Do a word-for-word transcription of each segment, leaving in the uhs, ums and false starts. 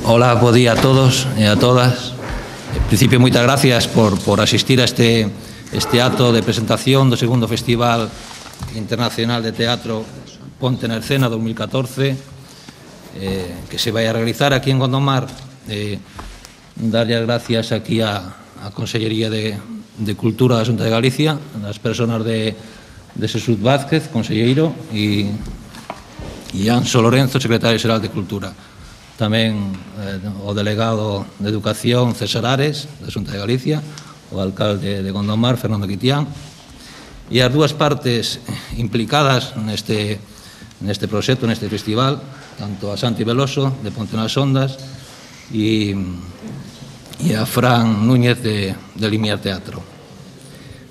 Hola, bo día a todos e a todas. En principio, moitas gracias por, por asistir a este, este acto de presentación do segundo Festival Internacional de Teatro Ponte na Escena dos mil catorce, eh, que se vai a realizar aquí en Gondomar. Eh, darlle as gracias aquí a, a Consellería de, de Cultura da Xunta de Galicia, as personas de, de Xesús Vázquez, conselleiro, e, e Anxo Lorenzo, secretario xeral de Cultura. Tamén eh, o delegado de Educación, César Ares, da Xunta de Galicia, o alcalde de Gondomar, Fernando Quitián, e as dúas partes implicadas neste, neste proxecto, neste festival, tanto a Santi Veloso, de Ponte nas Ondas, e, e a Fran Núñez, de, de Limiar Teatro.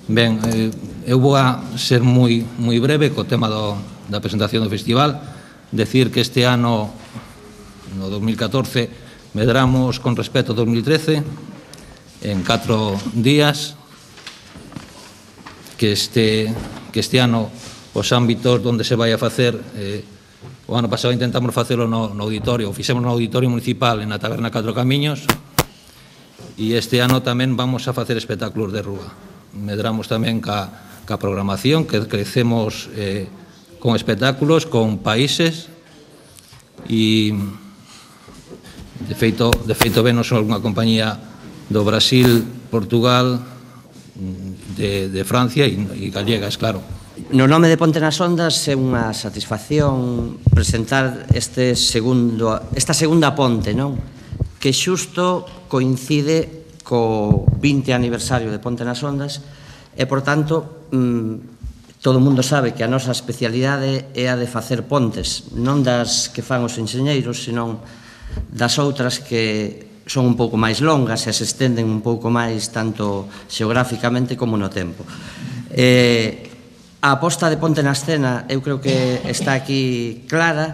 Ben, eh, eu vou a ser moi, moi breve co tema do, da presentación do festival, decir que este ano, no dos mil catorce, medramos con respecto ao dos mil trece en catro días, que este, que este ano os ámbitos onde se vai a facer, eh, o ano pasado intentamos facelo no, no auditorio, o fixemos no auditorio municipal en a Taberna Catro Camiños, e este ano tamén vamos a facer espectáculos de rúa. Medramos tamén ca, ca programación, que crecemos eh, con espectáculos, con países, e de feito, de feito venos algunha compañía do Brasil, Portugal, de, de Francia e, e gallegas, claro. No nome de Ponte nas Ondas é unha satisfacción presentar este segundo, esta segunda ponte, non? Que xusto coincide co vinte aniversario de Ponte nas Ondas e, por tanto, mmm, todo o mundo sabe que a nosa especialidade é a de facer pontes, non das que fan os enxeñeiros, senón das outras que son un pouco máis longas e se estenden un pouco máis tanto xeográficamente como no tempo. Eh, a aposta de Ponte na Escena eu creo que está aquí clara.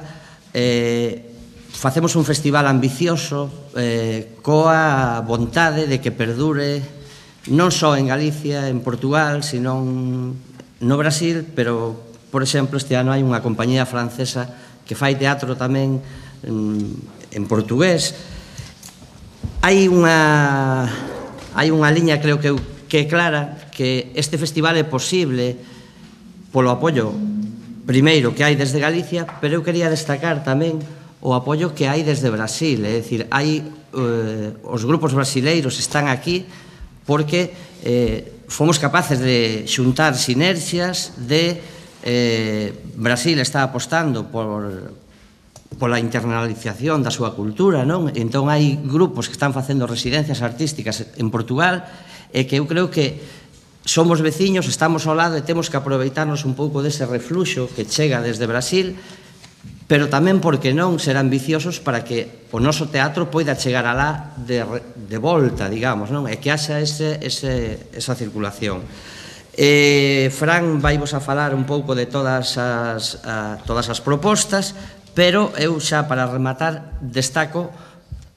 Eh, facemos un festival ambicioso eh, coa vontade de que perdure non só en Galicia, en Portugal, senón no Brasil, pero, por exemplo, este ano hai unha compañía francesa que fai teatro tamén en, en portugués. Hai unha, hai unha liña, creo que, que é clara, que este festival é posible polo apoio, primeiro, que hai desde Galicia, pero eu quería destacar tamén o apoio que hai desde Brasil, é dicir, hai, eh, os grupos brasileiros están aquí porque eh, fomos capaces de xuntar sinerxias, de eh, Brasil está apostando por pola internalización da súa cultura, non? Entón hai grupos que están facendo residencias artísticas en Portugal e que eu creo que somos veciños, estamos ao lado e temos que aproveitarnos un pouco dese refluxo que chega desde Brasil, pero tamén, porque non, ser ambiciosos para que o noso teatro poida chegar alá de, de volta, digamos, non? E que haxa ese, ese, esa circulación. Eh, Fran vai vos a falar un pouco de todas as, a, todas as propostas, pero eu xa, para rematar, destaco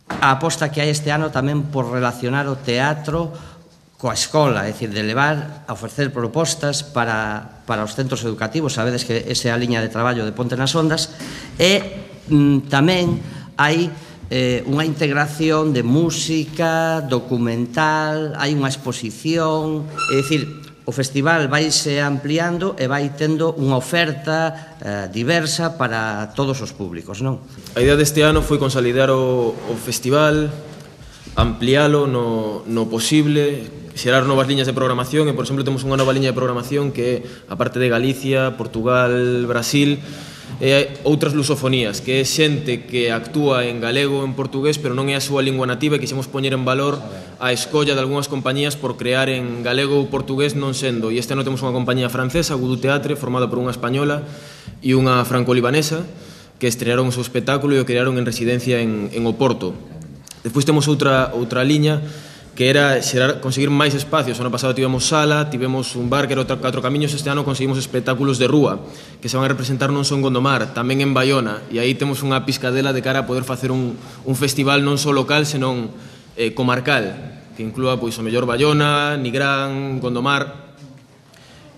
a aposta que hai este ano tamén por relacionar o teatro coa escola, é dicir, de levar a ofrecer propostas para, para os centros educativos. Sabedes que esa é a liña de traballo de Ponte nas Ondas, e mm, tamén hai eh, unha integración de música, documental, hai unha exposición, é dicir, o festival vaise ampliando e vai tendo unha oferta eh, diversa para todos os públicos, non? A idea deste ano foi consolidar o, o festival, ampliálo no, no posible, xerar novas liñas de programación, e, por exemplo, temos unha nova liña de programación que é, a parte de Galicia, Portugal, Brasil, e outras lusofonías, que é xente que actúa en galego ou en portugués, pero non é a súa lingua nativa, e quixemos poñer en valor a escolla de algunhas compañías por crear en galego ou portugués non sendo. E este ano temos unha compañía francesa, Voodoo Teatre, formada por unha española e unha franco-libanesa, que estrearon o seu espectáculo e o crearon en residencia en, en Oporto. Despois temos outra, outra liña, que era xerar, conseguir máis espacios. O ano pasado tivemos sala, tivemos un bar que era Catro Camiños, este ano conseguimos espectáculos de rúa, que se van a representar non só en Gondomar, tamén en Baiona, e aí temos unha piscadela de cara a poder facer un, un festival non só local, senón eh, comarcal, que inclúa, pois, o mellor Baiona, Nigrán, Gondomar.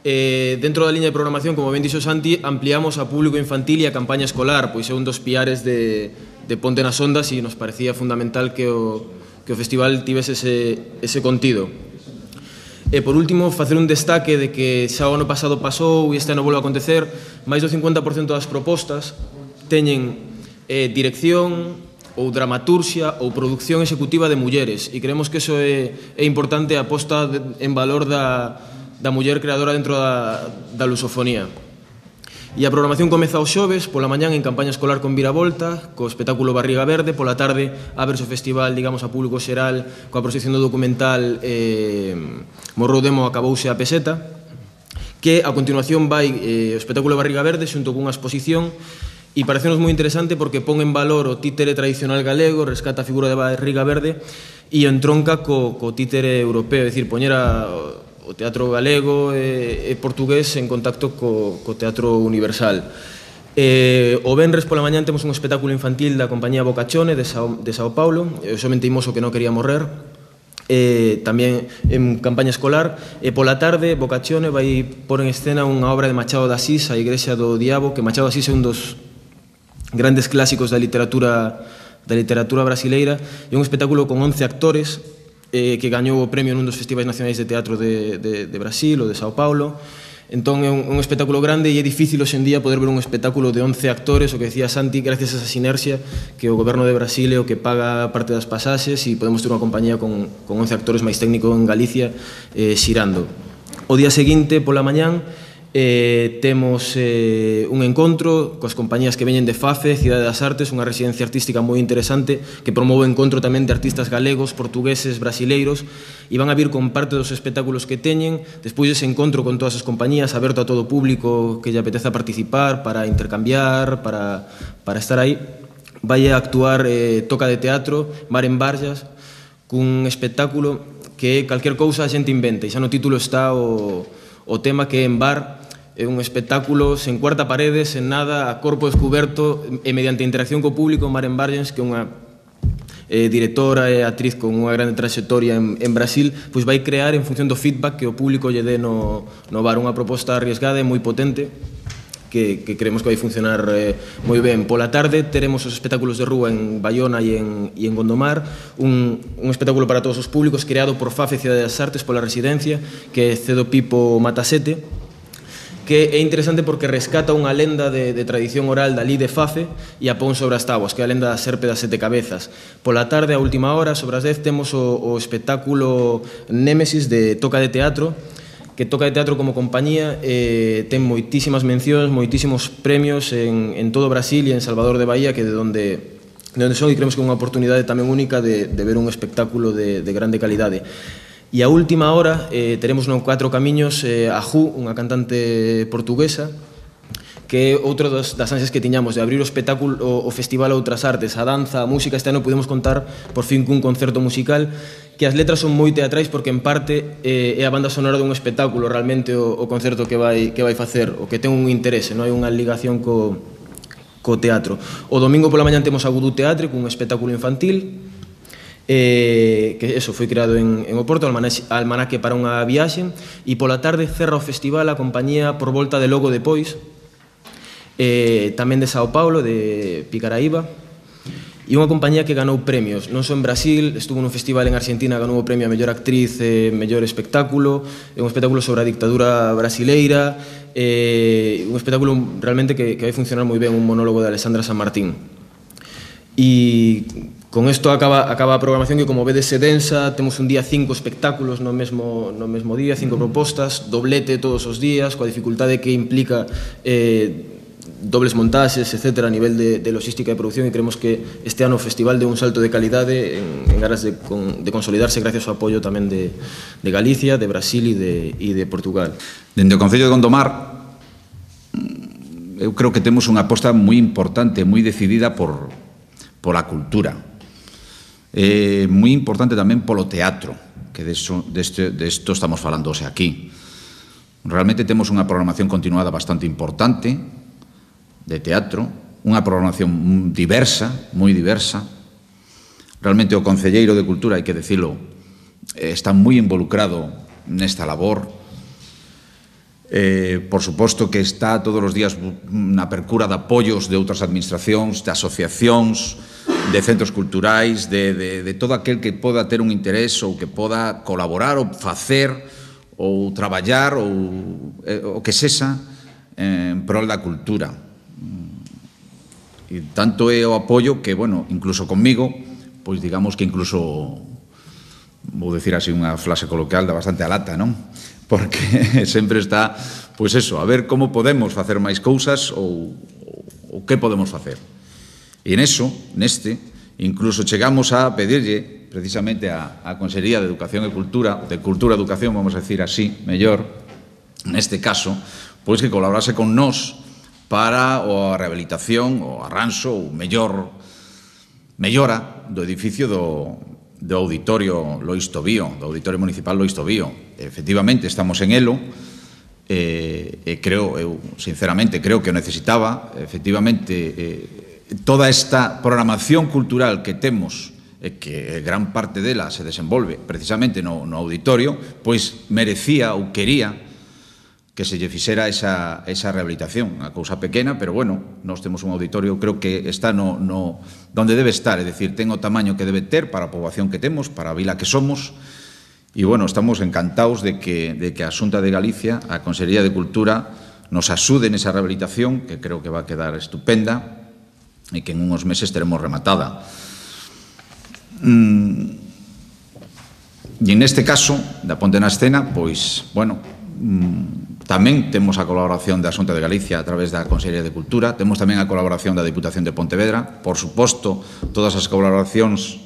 Eh, dentro da liña de programación, como ben dixo Santi, ampliamos a público infantil e a campaña escolar, pois é un dos piares de, de Ponte nas Ondas e nos parecía fundamental que o, que o festival tivese ese, ese contido. E, por último, facer un destaque de que xa o ano pasado pasou e este ano volve a acontecer, máis do cincuenta por cento das propostas teñen eh, dirección ou dramaturxia ou produción executiva de mulleres, e creemos que iso é, é importante a posta de, en valor da, da muller creadora dentro da, da lusofonía. E a programación comeza os xoves, pola mañán en campaña escolar con viravolta, co espectáculo Barriga Verde, pola tarde ábrese o festival, digamos, a público xeral, coa proxección do documental eh, Morrou Demo, acabouse a peseta, que a continuación vai eh, o espectáculo Barriga Verde xunto cunha exposición, e parecenos moi interesante porque pon en valor o títere tradicional galego, rescata a figura de Barriga Verde e entronca co, co títere europeo, é dicir, poñer a o teatro galego e, e portugués en contacto co, co teatro universal. Eh, o venres pola mañán temos un espectáculo infantil da compañía Bocachone de Sao, de Sao Paulo, o Xo Menteimoso que non quería morrer, eh, tamén en campaña escolar, e pola tarde Bocachone vai pôr en escena unha obra de Machado de Asís, A Igrexa do Diabo, que Machado de Asís é un dos grandes clásicos da literatura, da literatura brasileira, e un espectáculo con once actores, Eh, que gañou o premio nun dos festivais nacionais de teatro de, de, de Brasil ou de Sao Paulo. Entón é un, un espectáculo grande e é difícil hoxe en día poder ver un espectáculo de once actores, o que decía Santi, gracias a esa sinerxia que o goberno de Brasil é o que paga parte das pasaxes e podemos ter unha compañía con, con once actores máis técnico en Galicia eh, xirando. O día seguinte, pola mañán, Eh, temos eh, un encontro coas compañías que veñen de FAFE, Cidade das Artes, unha residencia artística moi interesante que promove o encontro tamén de artistas galegos, portugueses, brasileiros, e van a vir con parte dos espectáculos que teñen, despois dese encontro con todas as compañías, aberto a todo o público que lle apeteza participar, para intercambiar, para, para estar aí. Vai a actuar eh, Toca de Teatro, Mar en Barllas, cun espectáculo que calquer cousa a xente inventa, e xa no título está o, o tema que é en bar. É un espectáculo sen cuarta parede, sen nada, a corpo descuberto e mediante interacción co público. Maren Bargens, que é unha eh, directora e actriz con unha grande trayectoria en, en Brasil, pois vai crear en función do feedback que o público lle dé no, no bar, unha proposta arriesgada e moi potente que, que creemos que vai funcionar eh, moi ben. Pola tarde teremos os espectáculos de rúa en Baiona e en, e en Gondomar, un, un espectáculo para todos os públicos creado por FAFE, Cidade das Artes, pola residencia, que é Cedo Pipo Matasete, que é interesante porque rescata unha lenda de, de tradición oral da Lí de Fafe e a pon sobre as táboas, que é a lenda da serpe das sete cabezas. Pola tarde, a última hora, sobre as dez, temos o, o espectáculo Némesis de Toca de Teatro, que Toca de Teatro como compañía eh, ten moitísimas mencións, moitísimos premios en, en todo Brasil e en Salvador de Bahía, que é de onde, de onde son, e creemos que é unha oportunidade tamén única de, de ver un espectáculo de, de grande calidade. E a última hora eh, teremos no Catro Camiños eh, a Ju, unha cantante portuguesa, que é outro das, das ansias que tiñamos de abrir o espectáculo, o, o Festival a outras artes, a danza, a música. Este ano podemos contar por fin cun concerto musical, que as letras son moi teatrais porque en parte eh, é a banda sonora dun espectáculo realmente o, o concerto que vai, que vai facer, o que ten un interese, non hai unha ligación co, co teatro. O domingo pola mañan temos a Gudú Teatre, cun espectáculo infantil, Eh, que eso foi creado en, en Oporto, almanaque para unha viaxe, e pola tarde cerra o festival a compañía Por Volta de Logo Depois, eh, tamén de Sao Paulo, de Picaraíba, e unha compañía que ganou premios, non só en Brasil, estuvo nun festival en Argentina, ganou o premio a mellor actriz e mellor espectáculo, é un espectáculo sobre a dictadura brasileira, eh, un espectáculo realmente que, que vai funcionar moi ben, un monólogo de Alessandra San Martín. E con isto acaba, acaba a programación, que como vedes é densa. Temos un día cinco espectáculos no mesmo, no mesmo día, cinco propostas, doblete todos os días, coa dificultade que implica eh, dobles montaxes, etcétera, a nivel de, de logística e producción, e creemos que este ano o festival deu un salto de calidade en, en aras de, con, de consolidarse gracias ao apoio tamén de, de Galicia, de Brasil e de, e de Portugal. Dende o Concello de Gondomar, eu creo que temos unha aposta moi importante, moi decidida por, por a cultura. É moi importante tamén polo teatro, que de isto estamos falando hoxe aquí. Realmente temos unha programación continuada bastante importante de teatro, unha programación diversa, moi diversa. Realmente o Concelleiro de Cultura, hai que decirlo, está moi involucrado nesta labor. Eh, por suposto que está todos os días na percura de apoios de outras administracións, de asociacións, de centros culturais, de, de, de todo aquel que poda ter un interés ou que poda colaborar ou facer ou traballar ou o que sexa en prol da cultura. E tanto é o apoio que, bueno, incluso conmigo, pois digamos que incluso, vou dicir así unha frase coloquial da bastante a lata, non? Porque sempre está, pois eso, a ver como podemos facer máis cousas ou, ou que podemos facer. E en eso, neste, incluso chegamos a pedirlle precisamente a, a Consellería de Educación e Cultura, de Cultura e Educación, vamos a decir así, mellor, neste caso, pois que colaborase con nós para a rehabilitación, o arranxo, ou mellor, mellora do edificio do, do Auditorio Lois Tobío, do Auditorio Municipal Lois Tobío. Efectivamente, estamos en elo, e, e creo, eu sinceramente creo que o necesitaba, efectivamente, eh, toda esta programación cultural que temos e que gran parte dela se desenvolve precisamente no, no auditorio, pois merecía ou quería que se lle fixera esa, esa rehabilitación. Unha cousa pequena, pero bueno, nós temos un auditorio, creo que está no, no donde debe estar, é dicir, ten o tamaño que debe ter para a poboación que temos, para a vila que somos, e bueno, estamos encantados de que, de que a Xunta de Galicia, a Consellería de Cultura, nos axude nesa rehabilitación, que creo que va a quedar estupenda, e que en uns meses teremos rematada. Mm, e en este caso, da Ponte na Escena, pois, bueno, mm, tamén temos a colaboración da Xunta de Galicia a través da Consellería de Cultura, temos tamén a colaboración da Diputación de Pontevedra, por suposto, todas as colaboracións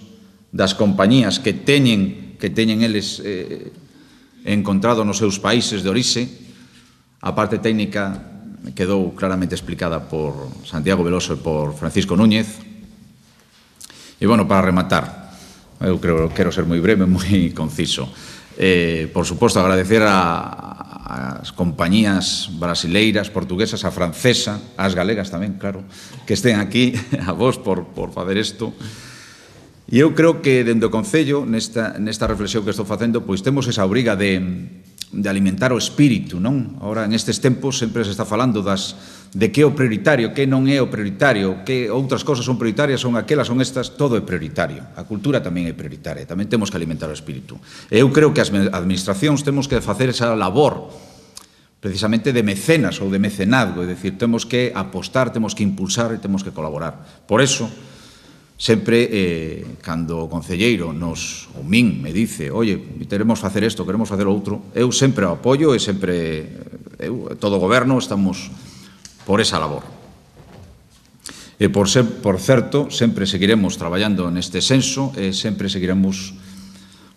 das compañías que teñen, que teñen eles eh, encontrado nos seus países de orixe, a parte técnica quedou claramente explicada por Santiago Veloso e por Francisco Núñez. E, bueno, para rematar, eu creo que quero ser moi breve, moi conciso. Eh, por suposto, agradecer a, as compañías brasileiras, portuguesas, a francesa, as galegas tamén, claro, que estén aquí, a vos, por, por facer isto. E eu creo que, dende o Concello, nesta, nesta reflexión que estou facendo, pois temos esa obriga de... de alimentar o espírito, non? Ahora, en estes tempos, sempre se está falando das, de que é o prioritario, que non é o prioritario, que outras cosas son prioritarias, son aquelas, son estas, todo é prioritario. A cultura tamén é prioritaria, tamén temos que alimentar o espírito. E eu creo que as administracións temos que facer esa labor, precisamente de mecenas ou de mecenazgo, é dicir, temos que apostar, temos que impulsar e temos que colaborar. Por eso, sempre, eh, cando o concelleiro nos, ou min, me dice, oye, queremos facer isto, queremos facer outro, eu sempre o apoio e sempre, eu, todo o goberno, estamos por esa labor. E por, ser, por certo, sempre seguiremos traballando neste senso e sempre seguiremos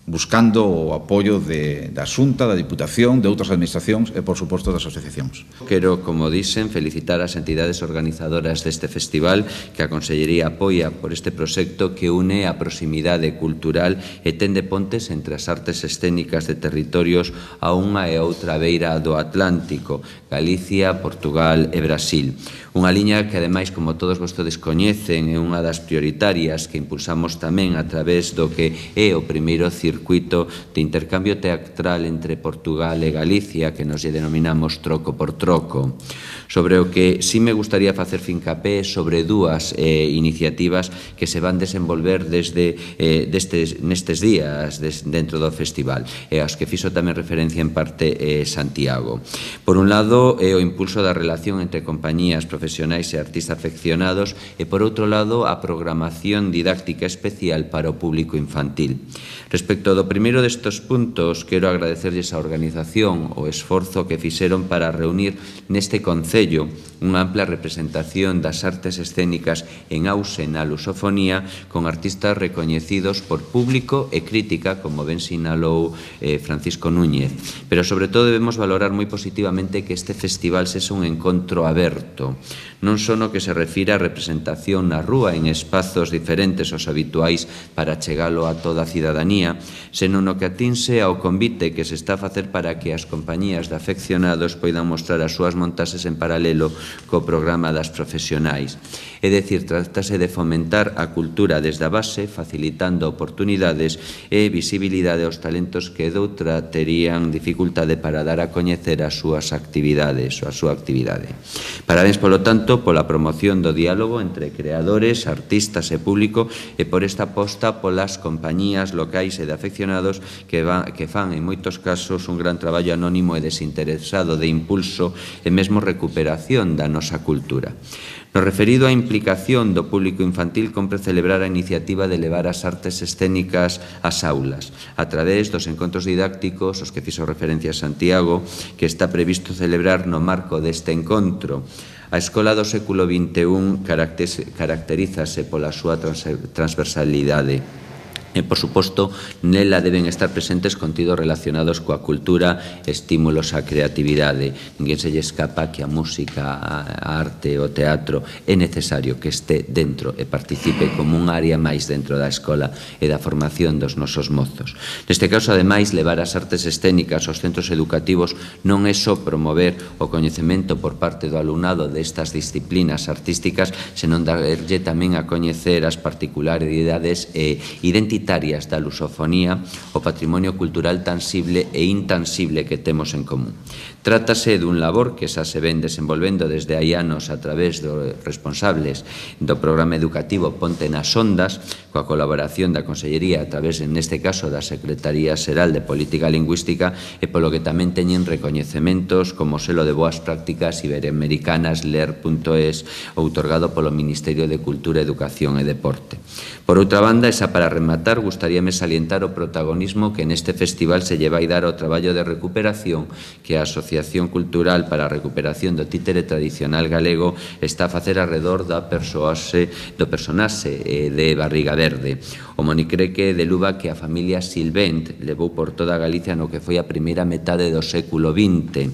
buscando o apoio de, da Xunta, da Diputación, de outras administracións e, por suposto, das asociacións. Quero, como dicen, felicitar as entidades organizadoras deste festival que a Consellería apoia por este proxecto que une a proximidade cultural e tende pontes entre as artes escénicas de territorios a unha e outra beira do Atlántico, Galicia, Portugal e Brasil. Unha liña que, ademais, como todos vostedes coñecen, é unha das prioritarias que impulsamos tamén a través do que é o primeiro circuito de intercambio teatral entre Portugal e Galicia, que nos lle denominamos troco por troco. Sobre o que sí me gustaría facer fincapé sobre dúas eh, iniciativas que se van desenvolver desde eh, destes, nestes días des, dentro do festival, e as que fixo tamén referencia en parte eh, Santiago. Por un lado, é o impulso da relación entre compañías profesionais e artistas afeccionados, e por outro lado, a programación didáctica especial para o público infantil. Respecto do primeiro destes puntos, quero agradecerlles a organización o esforzo que fixeron para reunir neste concello unha ampla representación das artes escénicas en auxe na lusofonía con artistas recoñecidos por público e crítica, como ben sinalou eh, Francisco Núñez. Pero, sobre todo, debemos valorar moi positivamente que este festival sexa un encontro aberto, non só no que se refira a representación na rúa en espazos diferentes aos habituais para chegalo a toda a cidadanía, senón no que atinse ao convite que se está a facer para que as compañías de afeccionados poidan mostrar as súas montaxes en paralelo co programa das profesionais. É dicir, trátase de fomentar a cultura desde a base, facilitando oportunidades e visibilidade aos talentos que doutra terían dificultade para dar a coñecer as súas actividades ou a súa actividade. Parabéns, polo tanto, pola promoción do diálogo entre creadores, artistas e público e por esta aposta polas compañías locais e de afeccionados que, va, que fan, en moitos casos, un gran traballo anónimo e desinteresado de impulso e mesmo recuperación da nosa cultura. No referido á implicación do público infantil, compre celebrar a iniciativa de levar as artes escénicas ás aulas, a través dos encontros didácticos, os que fixo referencia a Santiago, que está previsto celebrar no marco deste encontro. A Escola do século vinte e un caracterízase pola súa transversalidade. E, por suposto, nela deben estar presentes contidos relacionados coa cultura, estímulos á creatividade. Ninguén se lle escapa que a música, a arte, o teatro é necesario que este dentro e participe como un área máis dentro da escola e da formación dos nosos mozos. Neste caso, ademais, levar as artes escénicas aos centros educativos non é só promover o coñecemento por parte do alumnado destas disciplinas artísticas, senón darlle tamén a coñecer as particularidades e identitarias da lusofonía, o patrimonio cultural tangible e intangible que temos en común. Trátase dun labor que xa se ven desenvolvendo desde hai anos a través dos responsables do programa educativo Ponte nas Ondas, coa colaboración da Consellería a través, neste caso, da Secretaría Xeral de Política Lingüística e polo que tamén teñen recoñecementos como o selo de boas prácticas iberoamericanas L E R punto es outorgado polo Ministerio de Cultura, Educación e Deporte. Por outra banda, esa para rematar, gustaríame salientar o protagonismo que neste festival se lle vai dar ao traballo de recuperación que a Asociación Cultural para a Recuperación do Títere Tradicional Galego está a facer arredor da persoase, do personaxe de Barriga Verde. O monicreque de luva que a familia Silvent levou por toda Galicia no que foi a primeira metade do século vinte.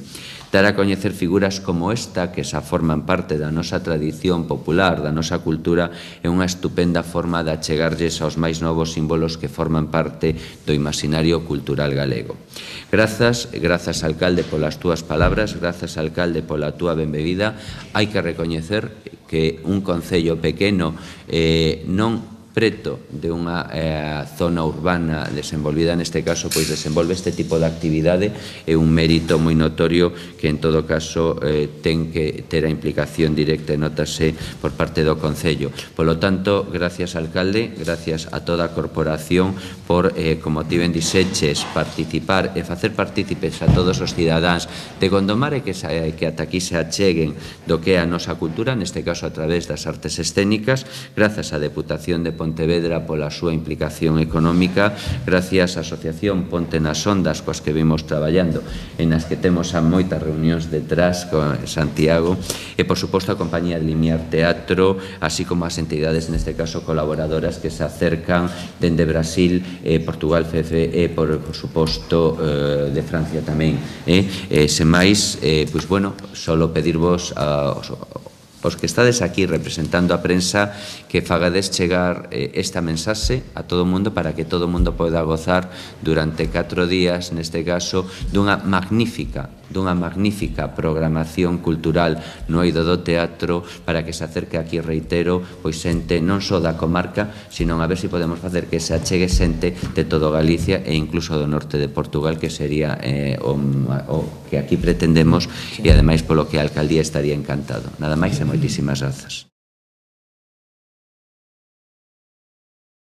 Dar a coñecer figuras como esta, que xa forman parte da nosa tradición popular, da nosa cultura, é unha estupenda forma de achegarlles aos máis novos símbolos que forman parte do imaginario cultural galego. Grazas, grazas, alcalde, polas túas palabras, grazas, alcalde, pola túa benvida. Hai que recoñecer que un concello pequeno eh, non preto de unha eh, zona urbana desenvolvida, neste caso, pois desenvolve este tipo de actividade, é un mérito moi notorio que, en todo caso, eh, ten que ter a implicación directa e notase por parte do Concello. Polo tanto, gracias, alcalde, gracias a toda a corporación por, eh, como ti ben dixeches, participar e facer partícipes a todos os cidadáns de Gondomar e que, que ata aquí se acheguen do que é a nosa cultura, neste caso a través das artes escénicas, grazas á Deputación de Pontevedra Pontevedra pola súa implicación económica, gracias á Asociación Ponte nas Ondas, coas que vimos traballando, en as que temos a moitas reunións detrás con Santiago, e, por suposto, a Compañía de Limiar Teatro, así como as entidades, neste caso, colaboradoras que se acercan dende Brasil, eh, Portugal, F F e, por, por suposto, eh, de Francia tamén. Eh? Eh, sen máis, eh, pois, bueno, solo pedirvos aos os que estades aquí representando a prensa que fagades chegar eh, esta mensaxe a todo o mundo para que todo o mundo poida gozar durante catro días, neste caso, dunha magnífica dunha magnífica programación cultural no eido do teatro para que se acerque aquí, reitero, pois xente non só da comarca, sino a ver se podemos facer que se achegue xente de todo Galicia e incluso do norte de Portugal, que sería eh, o, o que aquí pretendemos, e ademais polo que a alcaldía estaría encantado. Nada máis e moitísimas grazas.